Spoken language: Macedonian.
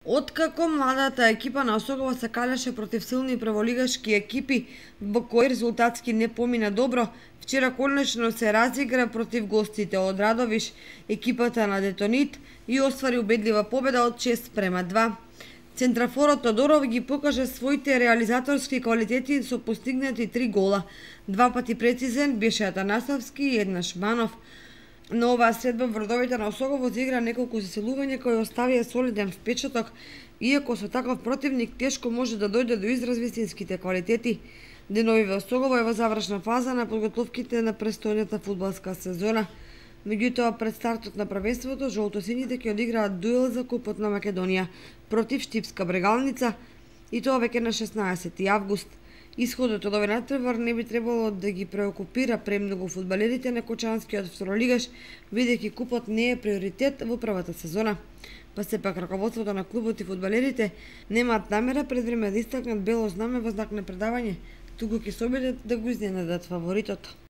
Откако младата екипа на Осогово се калеше против силни прволигашки екипи, во кои резултатски не помина добро, вчера конечно се разигра против гостите од Радовиш, екипата на Детонит, и оствари убедлива победа од 6-2. Центрафорот Тодоров ги покажа своите реализаторски квалитети со постигнати 3 гола. 2 пати прецизен беше Атанасовски и еднаш Манов. На оваа средба вродовите на Осогово заигра неколку заселувања кои оставија солиден впечаток, иако со таков противник тешко може да дојде до израз вистинските квалитети. Деновиве Осогово е во завршна фаза на подготовките на престојната фудбалска сезона. Меѓутоа, пред стартот на првенството, жолтосините ќе одиграат дуел за Купот на Македонија против Штипска Брегалница, и тоа веќе на 16 август. Исходот од овој натпревар не би требало да ги преокупира премногу фудбалерите на Кочанскиот второлигаш, бидејќи купот не е приоритет во првата сезона. Па сепак раководството на клубот и фудбалерите немаат намера пред време да истакнат бело знаме во знак на предавање, туку ќе се обидат да го изненадат фаворитот.